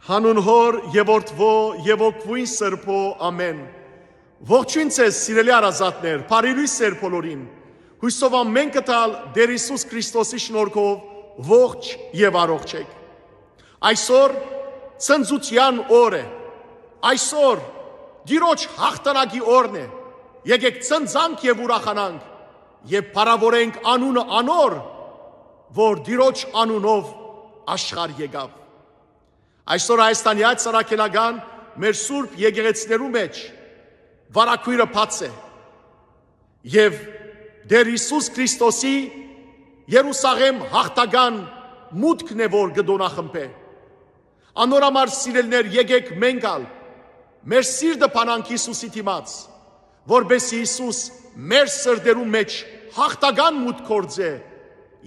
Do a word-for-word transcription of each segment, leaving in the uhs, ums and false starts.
Հանուն Հօր եւ Որդւոյ եւ Հոգւոյն Սրբոյ, ամէն։ Ողջոյն ձեզ, սիրելի հարազատներ, բարի լոյս ձեր բոլորին։ Յուսով ամէնքը տալ Տէր Յիսուս Քրիստոսի շնորհքով ողջ եւ առողջ եք։ Այսօր ցնծութեան օր է։ Այսօր Տիրոջ յաղթանակի օրն է։ Եկեք ցնծանք եւ ուրախանանք եւ փառաւորենք անունը անոր, որ Տիրոջ անունով աշխարհ եկաւ։ Այսօր Հայաստանի Հայ Սարաքելական մեր սուրբ եկեղեցիներու մէջ վարագոյրը բաց է եւ Տէր Յիսուս Քրիստոսի Երուսաղէմ յաղթական մուտքն է, որ կը տօնախմբէ։ Անոր համար, սիրելիներ, եկեք մենք ալ մեր սիրտը բանանք Յիսուսի դիմաց, որպէս Յիսուս մեր սրտերու մէջ յաղթական մուտք գործէ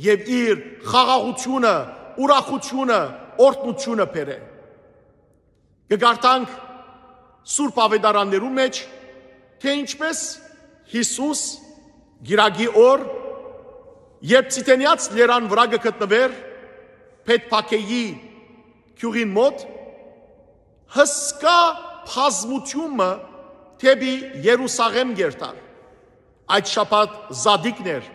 եւ իր խաղաղութիւնը, ուրախութիւնը, օրհնութիւնը բերէ։ Կը կարդանք Սուրբ Աւետարաններուն մէջ, թէ ինչպէս Յիսուս կիրակի օր, երբ Ծիթենեաց լերան վրայ կը գտնուէր Բեթփագէի գիւղին մօտ, հսկայ բազմութիւն մը դէպի Երուսաղէմ կ'երթար։ Այդ շաբաթ զատիկն էր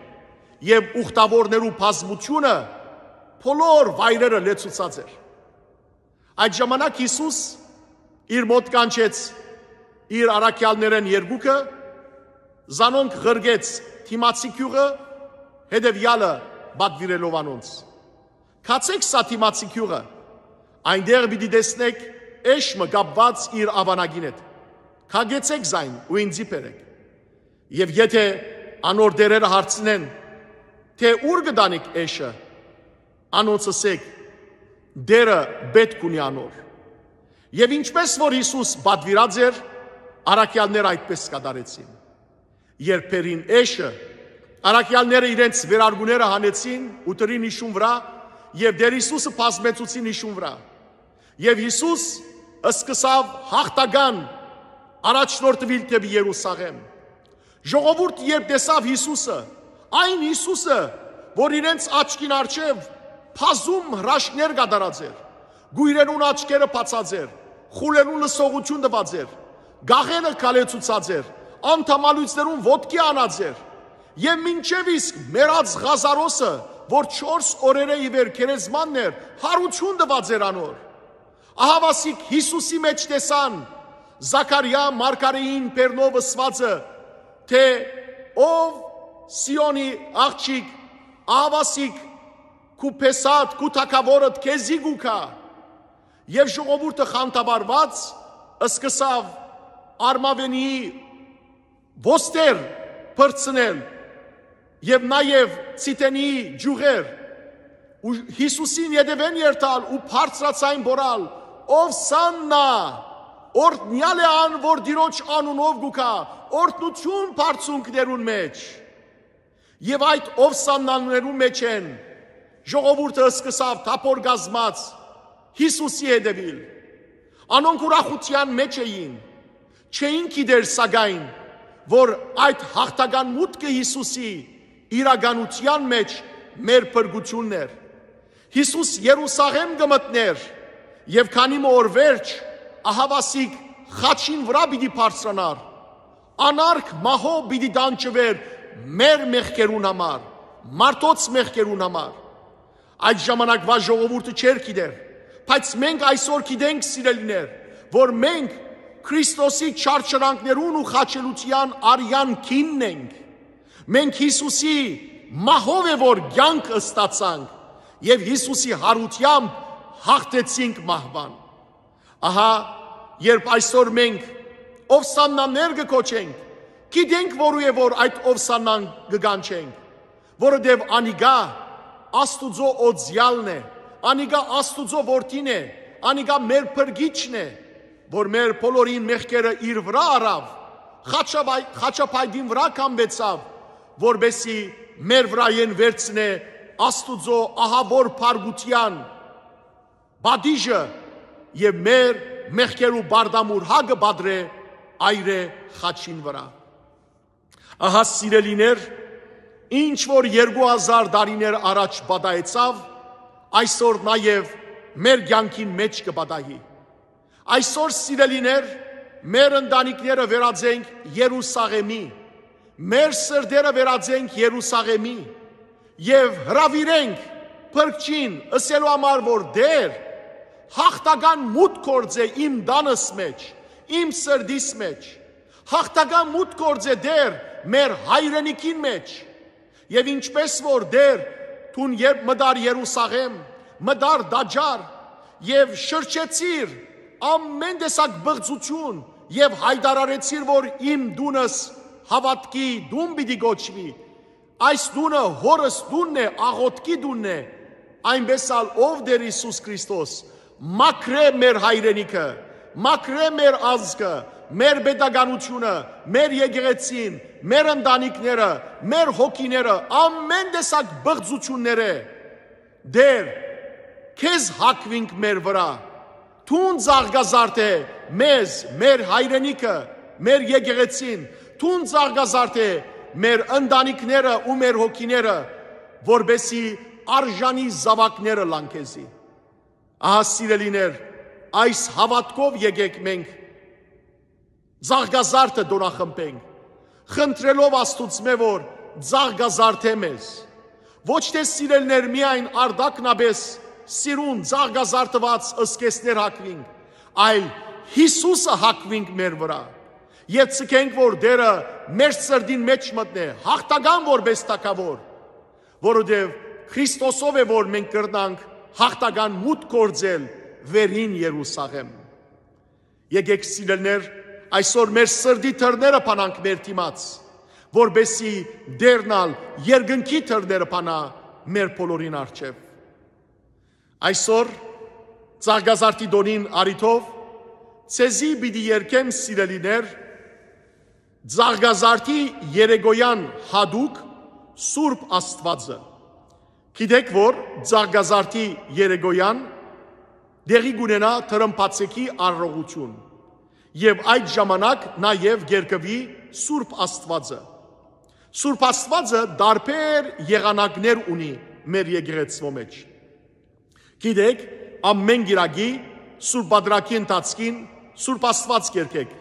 եւ ուխտաւորներու բազմութիւնը բոլոր վայրերը լեցուցած էր։ Այդ ժամանակ Յիսուս իր մօտ կանչեց իր առաքեալներէն երկուքը, զանոնք ղրկեց դիմացի գիւղը, հետեւեալը պատուիրելով անոնց։ «Գացէք սա դիմացի գիւղը, այնտեղ պիտի տեսնէք էշ մը կապուած իր աւանակին հետ։ Քակեցէք զայն ու ինծի բերէք։ Եւ եթէ անոր տէրերը հարցնեն, թէ ո՞ւր կը տանիք էշը, անոնց ըսէք. "Տէրը պէտք ունի անոր"»։ Եւ ինչպէս որ Յիսուս պատուիրած էր, առաքեալները այդպէս կատարեցին։ Երբ բերին էշը, առաքեալները իրենց վերարկուները հանեցին ու դրին իշուն վրայ եւ Տէր Յիսուսը բազմեցուցին իշուն վրայ։ Եւ Յիսուս սկսաւ յաղթական առաջնորդուիլ դէպի Երուսաղէմ։ Ժողովուրդը երբ տեսաւ Յիսուսը, այն Յիսուսը, որ իրենց աչքին առջեւ բազում հրաշքներ կատարած էր, կոյրերուն աչքերը բացած էր, խուլերուն լսողութիւն տուած էր, գաղերը քալեցուցած էր, անդամալոյցներուն ոտքի անած էր, եւ մինչեւ իսկ մեռած Ղազարոսը, որ չորս օրերէ ի վեր գերեզմանն էր, յարութիւն տուած էր անոր։ Ահավասիկ Յիսուսի մէջ տեսան Զաքարիա մարգարէին բերնով ըսուածը, թէ «Ով Սիոնի աղջիկ, ահավասիկ քու փեսատ, քու թագաւորդ քեզի կու գայ»։ Եւ ժողովուրդը խանդավառուած սկսաւ արմաւենիի ոստեր փրցնել եւ նաեւ Ծիթենիի ճիւղեր ու Յիսուսին ետեւէն երթալ ու բարձրաձայն բոռալ. «Ովսաննա, օրհնեալ է ան, որ Տիրոջ անունով կու գայ, օրհնութիւն բարձունքներուն մէջ»։ Եւ այդ ովսաննաներուն մէջէն ժողովուրդը սկսաւ թափոր կազմած Յիսուսի հետեւիլ։ Անոնք ուրախութեան մէջ էին, չէին գիտեր, սակայն, որ այդ յաղթական մուտքը Յիսուսի իրականութեան մէջ մեր փրկութիւնն էր։ Յիսուս Երուսաղէմ կը մտնէր եւ քանի մը օր վերջ ահավասիկ խաչին վրայ պիտի բարձրանար։ Անարգ մահով պիտի տանջուէր մեր մեղքերուն համար, մարդոց մեղքերուն համար։ Այդ ժամանակվա ժողովուրդը չէր գիտեր, բայց մենք այսօր գիտենք, սիրելիներ, որ մենք Քրիստոսի չարչարանքներուն ու խաչելութեան արեան գինն ենք։ Մենք Յիսուսի մահով է, որ կյանք ստացանք եւ Յիսուսի յարութեամբ յաղթեցինք մահուան։ Ահա, երբ այսօր մենք ովսաննաներ կը կոչենք, գիտենք, որու է, որ այդ ովսաննան կը կանչենք, որովհետեւ անիկա Աստուծոյ օծեալն է, անիկա Աստուծոյ որդին է, անիկա մեր փրկիչն է, որ մեր բոլորին մեղքերը իր վրայ առաւ, խաչապայ-, խաչապայտին վրայ կամուեցաւ, որպեսզի մեր վրայէն վերցնէ Աստուծոյ ահաւոր փառքութեան պատիժը եւ մեր մեղքերու բարդամուր հակը պատռէ այրէ խաչին վրայ։ Ահա, սիրելիներ, ինչ որ երկու հազար տարիներ առաջ պատահեցաւ, այսօր նաեւ մեր կյանքին մէջ կը պատահի։ Այսօր, սիրելիներ, մեր ընտանիքները վերածենք Երուսաղէմի, մեր սրտերը վերածենք Երուսաղէմի եւ հրաւիրենք Փրկչին, ըսելու համար, որ Տէր, հաղթական մուտք գործէ իմ տանս մէջ, իմ սրտիս մէջ, հաղթական մուտք գործէ Տէր մեր հայրենիքին մէջ։ Եւ ինչպէս որ Տէր, դուն երբ մտար Երուսաղէմ, մտար տաճար եւ շրջեցիր ամեն տեսակ բղծութիւն եւ յայտարարեցիր, որ իմ տունս հաւատքի տուն պիտի կոչուի, այս տունը Հօրս տունն է, աղօթքի տունն է, այնպէս ալ ով Տէր Յիսուս Քրիստոս մաքրէ մեր հայրենիքը, մաքրէ մեր ազգը, մեր պետականութիւնը, մեր եկեղեցին, մեր ընտանիքները, մեր հոգիները, ամեն տեսակ բղծութիւններէ։ Տէր, քեզ հագուինք մեր վրայ, դուն ծաղկազարդէ մեզ, մեր հայրենիքը, մեր եկեղեցին, դուն ծաղկազարդէ մեր ընտանիքները ու մեր հոգիները, որպեսզի արժանի զաւակները լան քեզի։ Ահա, սիրելիներ, այս հաւատքով եկեք մենք ծաղկազարդը տօնախմբենք, խնդրելով Աստուծմէ, որ ծաղկազարդէ մեզ։ Ոչ թէ, սիրելիներ, միայն արտակնապէս սիրուն ծաղկազարդուած զգեստներ հագուինք, այլ Յիսուսը հագուինք մեր վրայ եւ ձգենք, որ Տէրը մեր սրտին մէջ մտնէ հաղթական որպէս թագաւոր, որովհետեւ Քրիստոսով է, որ մենք կրնանք հաղթական մուտք գործել վերին Երուսաղէմ։ Եկեք, սիրելիներ, այսօր մեր սրտի դռները բանանք մեր դիմաց, որպեսզի Տէրն ալ երկնքի դռները բանայ մեր բոլորին առջեւ։ Այսօր, ծաղկազարդի տօնին առիթով, ձեզի պիտի երգեմ, սիրելիներ, ծաղկազարդի երեկոյան յատուկ Սուրբ Աստուածը։ Գիտեք, որ ծաղկազարդի երեկոյան տեղի կունենայ թրմբացեքի արարողութիւն եւ այդ ժամանակ նաեւ կերկուի Սուրբ Աստուածը։ Սուրբ Աստուածը տարբեր եղանակներ ունի մեր եկեղեցւոյ մէջ։ Գիտեք, ամէն կիրակի Սուրբ Պատրակի ընթացքին Սուրբ Աստուած կերգեք։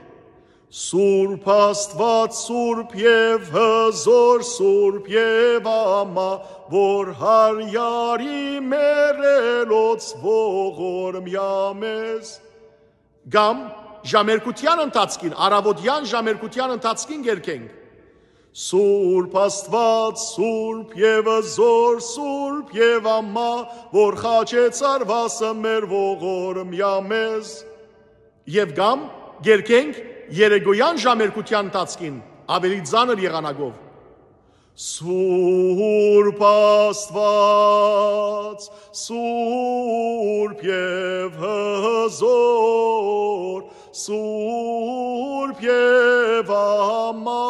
Սուրբ Աստուած, սուրբ եւ հզօր, սուրբ եւ ամա, որ Յարյարի մեռելոց ողորմեա մեզ։ Կամ ժամերգութեան ընթացքին, առաւօտեան ժամերգութեան ընթացքին կերգենք. Սուրբ Աստուած, սուրբ եւ հզօր, սուրբ եւ ամա, որ խաչեց արուասը մեր ողորմեա մեզ։ Եւ կամ կերգենք երեկոյան ժամերգութեան ընթացքին ավելի ծանր եղանակով. Սուրբ Աստուած, սուրբ եւ հզօր, սուրբ եւ ամա,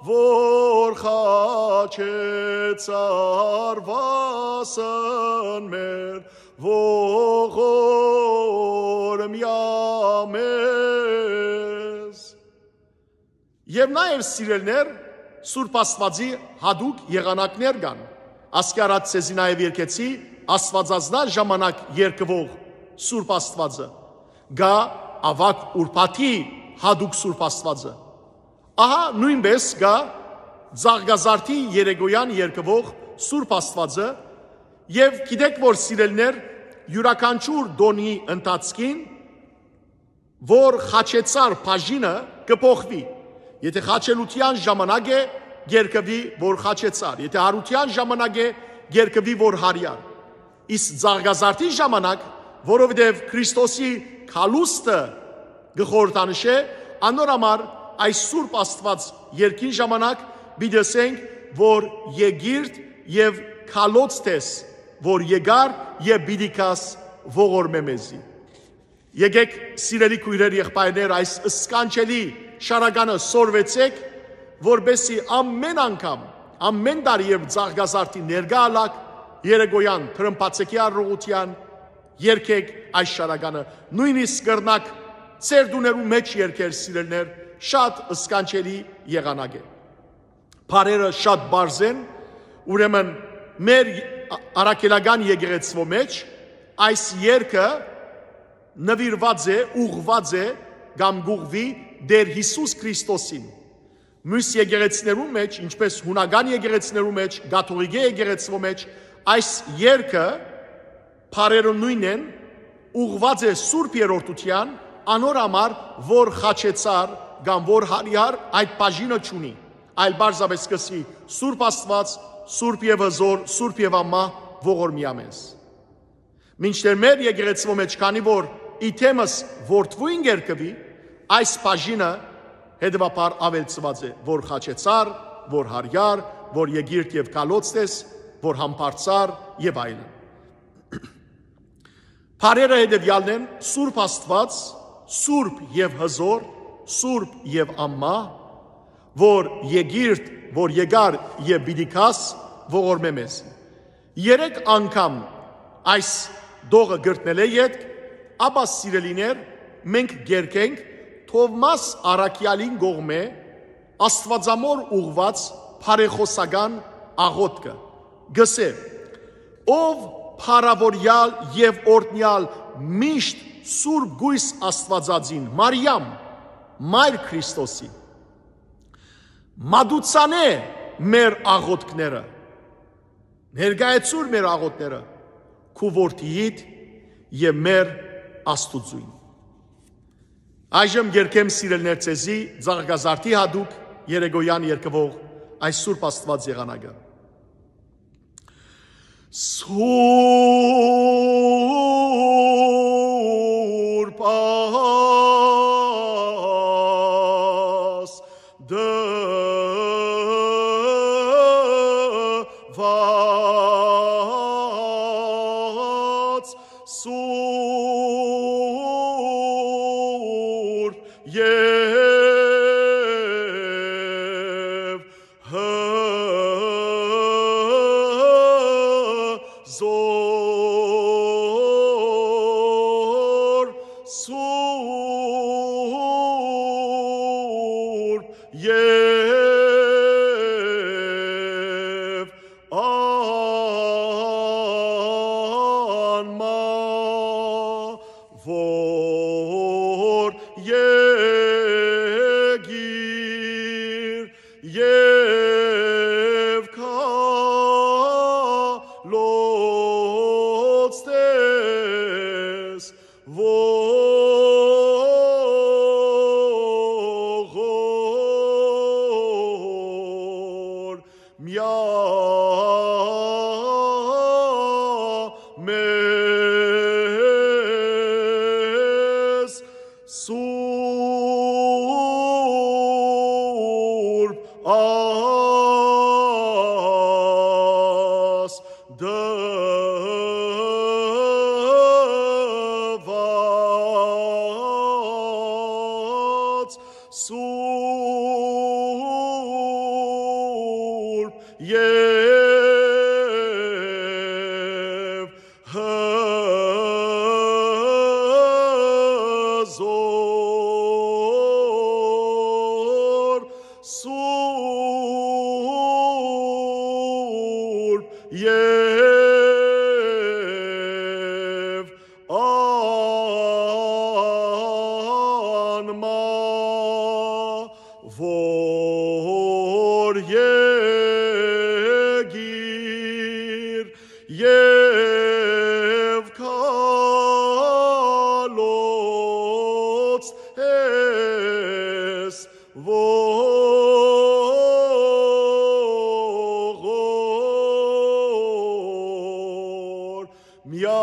որ խաչեց արուասն մեր ողորմեա մեզ։ Եւ նաեւ, սիրելիներ, Սուրբ Աստուածի յատուկ եղանակներ կան։ Ասկի առաջ ձեզի նաեւ երգեցի Աստուածազնա ժամանակ երգուող Սուրբ Աստուածը, գայ Աւագ Ուրբաթի յատուկ Սուրբ Աստուածը։ Ահա նոյնպէս գայ Ծաղկազարդի երեկոյան երգուող Սուրբ Աստուածը, եւ գիտեք, որ, սիրելիներ, իւրաքանչիւր տօնի ընթացքին որ խաչեցար բաժինը կը փոխուի։ Եթե խաչելութեան ժամանակ է, կերկուի որ խաչեցար, եթե հարութեան ժամանակ է, կերկուի որ հարեան։ Իսկ Ծաղկազարդի ժամանակ, որովհետեւ Քրիստոսի գալուստը կը խորհրդանշէ, անոր համար այս Սուրբ Աստուած երկին ժամանակ պիտի ասենք, որ եկիրդ եւ գալոցտես, որ եկար եւ պիտի գաս, ողորմէ մեզի։ Եկեք, սիրելի քոյրեր, եղբայրներ, այս սքանչելի շարականը սորվեցեք, որպեսզի ամէն անգամ, ամէն տարի եւ Ծաղկազարդի ներկայ ալաք, երեկոյան թրմբացեքի արարողութեան, երկեք այս շարականը, նոյնիսկ կրնաք ձեր տուներու մէջ երկեր, սիրելիներ, շատ սքանչելի եղանակ է։ Բարերը շատ պարզ են, ուրեմն մեր առաքելական եկեղեցվո մեջ այս երկը նուիրուած է, ուղղուած է կամ կ'ուղղուի Տէր Յիսուս Քրիստոսին։ Մյուս եկեղեցիներուն մէջ, ինչպէս յունական եկեղեցիներուն մէջ, կաթողիկէ եկեղեցւոյ մէջ, այս երգը, բառերը նոյնն են, ուղղուած է Սուրբ Երրորդութեան, անոր համար, որ խաչեցար կամ որ հարիար այդ բաժինը չունի, այլ պարզապէս կ'ըսի Սուրբ Աստուած, Սուրբ եւ Հզօր, Սուրբ եւ Անմահ, ողորմիա մեզ։ Մինչդեռ մեր եկեղեցւոյ մէջ, քանի որ ի թեմս որդւոյն կերկուի, այս բաժինը հետեւաբար աւելցուած է, որ խաչեցար, որ հարիար, որ եկիրդ եւ քալոցտես, որ համբարձար եւ այլն։ Բառերը հետեւեալն են. Սուրբ Աստուած, Սուրբ եւ Հզօր, Սուրբ եւ Անմահ, որ եկիրդ, որ եկար եւ պիտի գաս, ողորմէ մեզ։ Երեք անգամ այս տողը կրկնելէ ետք, ապա, սիրելիներ, մենք կերկենք Թովմաս Առաքեալին կողմէ Աստուածամոր ուղղուած բարեխօսական աղօթքը։ Կ'ըսէ. «Ով փառաւորեալ եւ օրհնեալ միշտ Սուրբ Կոյս Աստուածածին, Մարիամ, Մայր Քրիստոսի, մատուցանէ մեր աղօթքները, ներկայացուր մեր աղօթքները քու որդիիդ եւ մեր Աստուծոյն»։ Այժմ կերկեմ, սիրելիներ, ձեզի Ծաղկազարդի յատուկ երեկոյեան երգուող այս Սուրբ Աստուած եղանակը։ Սուրբ Աստուած, Սուրբ եւ Հզօր, Սուրբ եւ Անմահ, որ եկիր եւ քալոցտես ողորմեա մեզ, Սուրբ Աստուած, Սուրբ եւ Հզօր, Սուրբ եւ Անմահ, որ եկիր եւ քալոց ես ողորմեա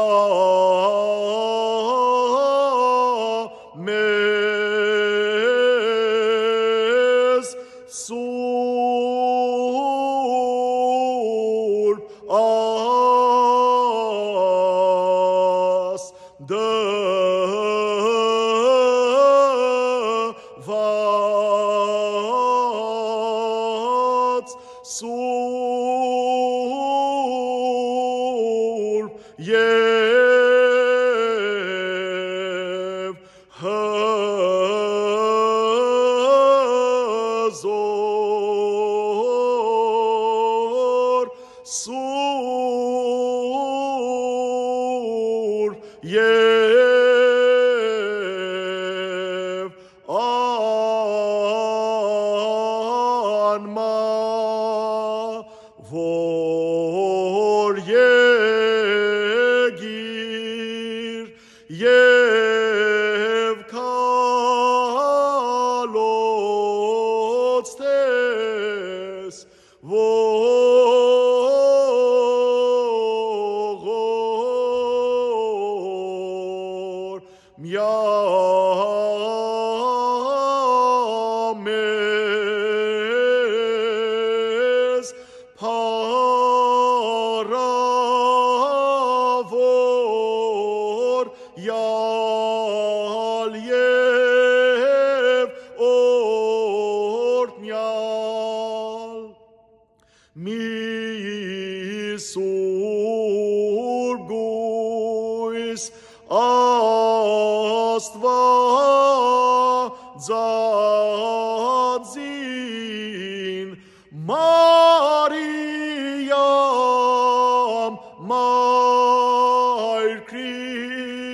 մեզ, Սուրբ Աստուած, Սուրբ եւ Հզօր, Սուրբ եւ Միամեզ փառաւոր յալ եւ օրհնեալ։ Մի սուրբ գոյս Աստուածածին Մարիամ, մայր Քրիստոսի,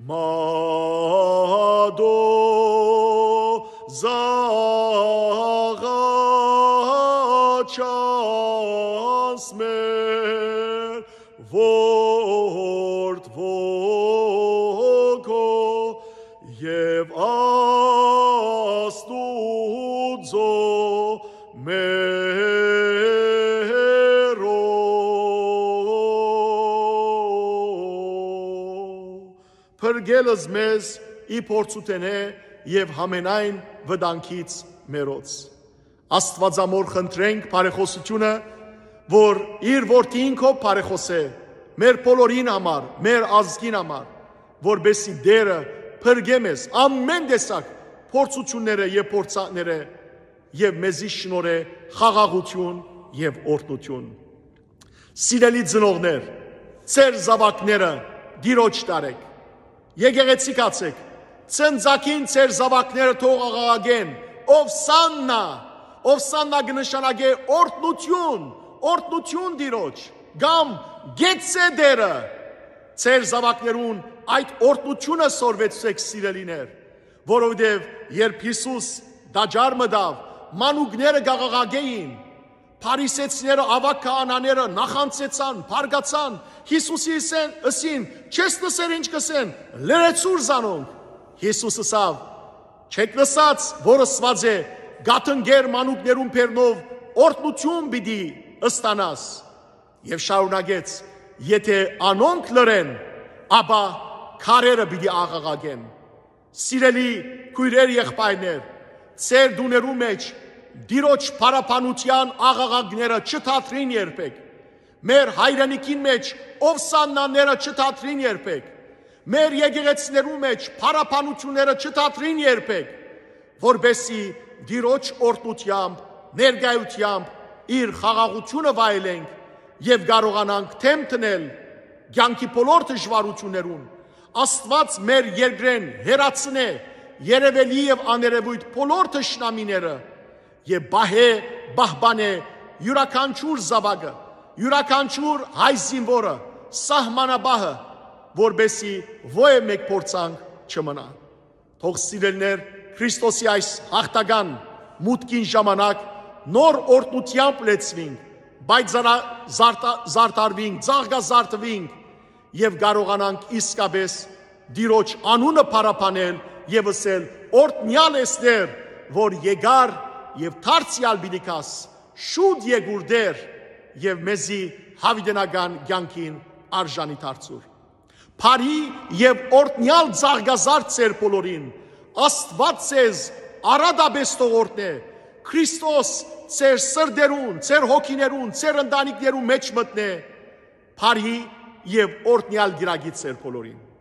մատոյ զաղաչանց մեր որդի ոգու եւ Աստուծոյ մեռոյ։ Փրկել ես մեզ ի փորձութենէ եւ յամենայն վտանգից մերոց։ Աստուածամոր խնդրենք բարեխօսութիւնը, որ իր որդին քով բարեխօսէ մեր բոլորին համար, մեր ազգին համար, որպեսզի Տէրը փրկէ մեզ ամէն տեսակ փորձութիւններէ եւ փորձանքներէ եւ մեզի շնորհէ խաղաղութիւն եւ օրհնութիւն։ Սիրելի ծնողներ, ձեր զաւակները Տիրոջ տարէք։ Եկեղեցի գացէք, ծնծակին ձեր զաւակները թող աղաղակեն. «Ովսաննա»։ Ովսաննա կը նշանակէ օրհնութիւն, օրհնութիւն Տիրոջ, կամ «Գեցցէ Տէրը»։ Ձեր զաւակներուն այդ օրհնութիւնը սորվեցուցէք, սիրելիներ, որովհետեւ երբ Յիսուս տաճար մտաւ, մանուկները կ'աղաղակէին, Փարիսեցիները, աւագ քահանաները նախանձեցան, բարկացան, Յիսուսի ըսեն, ըսին. «Չես լսեր ինչ կ'ըսեն, լռեցուր զանոնք»։ Յիսուս ըսաւ. «Չէք լսած որ ըսուած է. "Կաթնկեր մանուկներուն բեռնով օրհնութիւն պիտի ստանաս"»։ Եւ շարունակեց. «Եթէ անոնք լռեն, ապա քարերը պիտի աղաղակեն»։ Սիրելի քոյրեր, եղբայրներ, ձեր տուներու մէջ Տիրոջ փառաբանութեան աղաղակները չդադրին երբեք։ Մեր հայրենիքին մէջ ովսաննաները չդադրին երբեք։ Մեր եկեղեցիներու մէջ փառաբանութիւնները չդադրին երբեք, որպեսզի Տիրոջ օրհնութեամբ, ներկայութեամբ իր խաղաղութիւնը վայելենք եւ կարողանանք դէմ դնել կեանքի բոլոր դժուարութիւններուն։ Աստուած մեր երկրէն հեռացնէ երեւելի եւ աներեւոյթ բոլոր թշնամիները եւ պահէ, պահպանէ իւրաքանչիւր զաւակը, իւրաքանչիւր հայ զինուորը, սահմանապահը, որպեսզի ոեւ մէկ փորձանք չմնայ։ Թող, սիրելիներ, Քրիստոսի այս յաղթական մուտքին ժամանակ նոր օրհնութեամբ լեցուինք, բայց զարա-, զարդա-, զարդարուինք, ծաղկազարդուինք եւ կարողանանք իսկապէս Տիրոջ անունը փառաբանել եւ ըսել. «Օրհնեալ ես Տէր, որ եկար եւ դարձեալ պիտի գաս, շուտ եկուր Տէր եւ մեզի յաւիտենական կեանքին արժանի դարձուր»։ Բարի եւ օրհնեալ ծաղկազարդ ձեր բոլորին։ Աստուած ձեզ առատապէս թող օրհնէ։ Քրիստոս ձեր սրտերուն, ձեր հոգիներուն, ձեր ընտանիքներուն մէջ մտնէ։ Բարի եւ օրհնեալ կիրակի ձեր բոլորին։